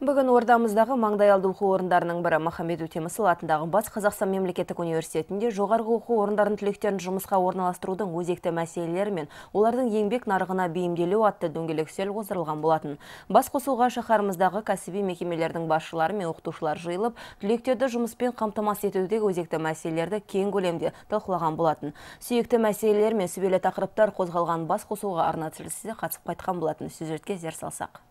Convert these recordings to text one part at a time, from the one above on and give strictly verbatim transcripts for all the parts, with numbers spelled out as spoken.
Бүгін ордамыздағы маңдайалды оқу орындарының бірі Махамбет Өтемісұлы атындағы Батыс Қазақстан мемлекеттік университетінде жоғарғы оқу орындарының түлектерін жұмысқа орналастырудың өзекті мәселелері мен олардың еңбек нарығына бейімделу атты дөңгелек үстел қоздырылған болатын. Бас қосуға шаһарымыздағы кәсіби мекемелердің басшылары мен оқытушылар жиылып, түлектерді жұмыспен қамтамасыз етудегі өзекті мәселелерді кең көлемде талқылаған болатын. Сүйекті мәселелер мен сүбелі тақырыптар қозғалған бас қосуға арна тілшісі қатысып қайтқан болатын. Сюжетке зер салсақ.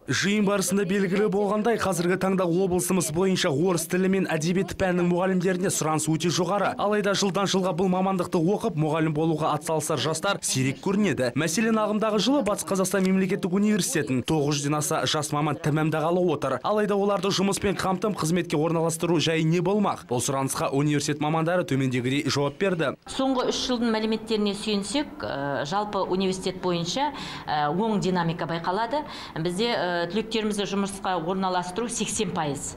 Жиын барысында белгілі болғандай, қазіргі таңда облысымыз бойынша орыс тілі мен әдебиет пәнінің мұғалімдеріне сұраныс өте жоғары. Алайда жылдан жылға бұл мамандықты оқып, мұғалім болуға атсалысар жастар сирек көрінеді. Мәселен, ағымдағы жылы Батыс Қазақстан мемлекеттік университетін тоғыз жүзден аса жас маман тәмамдағалы отыр. Алайда оларды жұмыспен қамтым қызметке орналастыру жайы не болмақ? Бұл сұранысқа университет мамандары төмендегідей жауап берді. Соңғы үш жылдың мәліметтеріне сүйенсек, жалпы университет бойынша оң динамика байқалады. Бізде түлектерімізді жұмысқа орналастыру сексен пайыз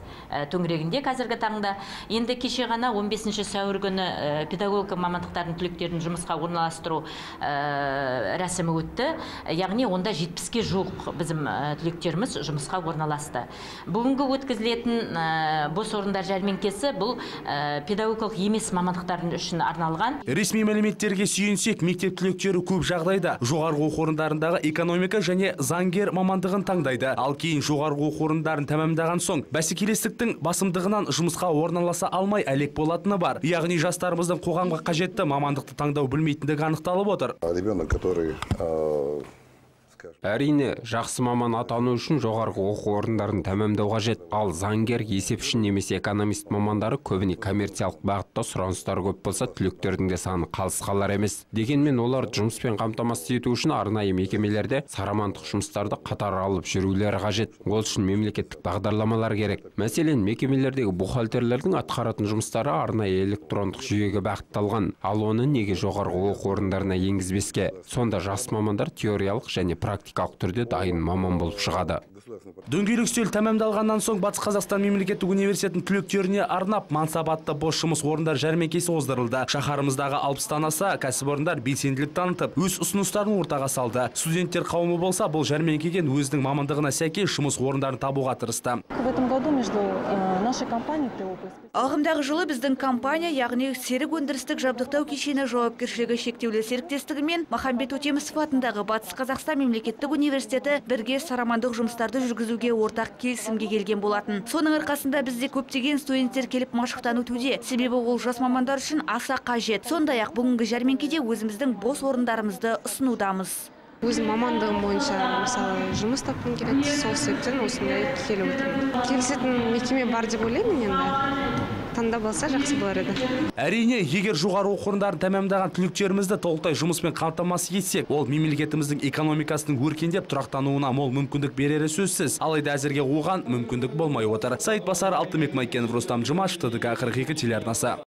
төңірегінде қазіргі таңда. Енді кеше ғана он бесінші сәуір күні педагогика мамандықтардың түлектерін жұмысқа орналастыру рәсімі өтті. Яғни онда жетпіске жуық біздің түлектеріміз жұмысқа орналасты. Бүгінгі өткізілетін бос орындар жәрмеңкесі бұл педагогикалық емес мамандықтардың үшін арналған. Ресми мәліметтерге сүйенсек, мектеп түлектері көп жағдайда жоғарғы оқу орындарындағы экономика және заңгер мамандығын таңдайды. Ал кейін жоғарғы оқу орындарын тәмамдаған соң бәсекелестіктің басымдығынан жұмысқа орналаса алмай әлек болатыны бар. Яғни жастарымыздың қоғамға қажетті мамандықты таңдау білмейтіндігі анықталып отыр. Ребенок, который Әрине, жақсы маман атану үшін жоғарғы оқу орындарын тәмамдау қажет. Ал заңгер, есепші немесе экономист мамандары көбіне коммерциялық бағытта сұраныстар көп болса, түлектердің де саны қалыс қалар емес. Дегенмен олар жұмыспен қамтамасыз ету үшін арнайы мекемелерде сарамандық жұмыстарды қатар алып жүрулері қажет. Ол үшін мемлекеттік бағдарламалар керек. Мәселен, мекемелердегі бухгалтерлердің атқаратын жұмыстары арнайы электрондық жүйеге бағытталған. Ал оны неге жоғарғы оқу орындарына енгізбеске? Сонда жас мамандар теориялық және практикалық түрде дайын маман болып шығады. Дөңгелек үстел тәмамдалғаннан соң Батыс Қазақстан мемлекеттік университетінің түлектеріне арнап мансабатты бос жұмыс орындар жәрмеңкесі қоздырылды. Шаһарымыздағы алпыстан аса кәсіпорындар белсенділік танытып, өз ұсыныстарын ортаға салды. Студенттер қауымы болса, бұл жәрмеңкеден өзінің мамандығына сәйкес жұмыс орындарын табуға тырысты. Ағымдағы жылы біздің компания, яғни серік өндірістік жабдықтау кешені жауапкершілігі шектеулі серіктестігі мен Махамбет Өтемісов атындағы Батыс Қазақстан мемлекеттік университеті бірге сарамандық жұмыстарды жүргізуге ортақ келісімге келген болатын. Соның арқасында бізде көптеген студенттер келіп машықтан өтуде. Себебі ол жас мамандар үшін аса қажет. Сондай-ақ бүгінгі жәрмеңкеде өзіміздің бос орындарымызды ұсынудамыз. Өзім мамандығым бойынша мысалы жұмыс тапқым келеді, сол себептен осындай келіп отырмын. Келісетін мекеме бар деп ойлаймын енді. Таңдап алса жақсы болар еді. Әрине, егер жоғары оқу орындарын тәмамдаған түлектерімізді толықтай жұмыспен қамтамасыз етсек, ол мемлекетіміздің экономикасының өркендеп тұрақтануына мол мүмкіндік берері сөзсіз. Алайда әзірге оған мүмкіндік болмай отыр. Саид Басар, Алтынбек Майкенов, Рустам Жұмашев, Т Д К қырық екі телеарнасы.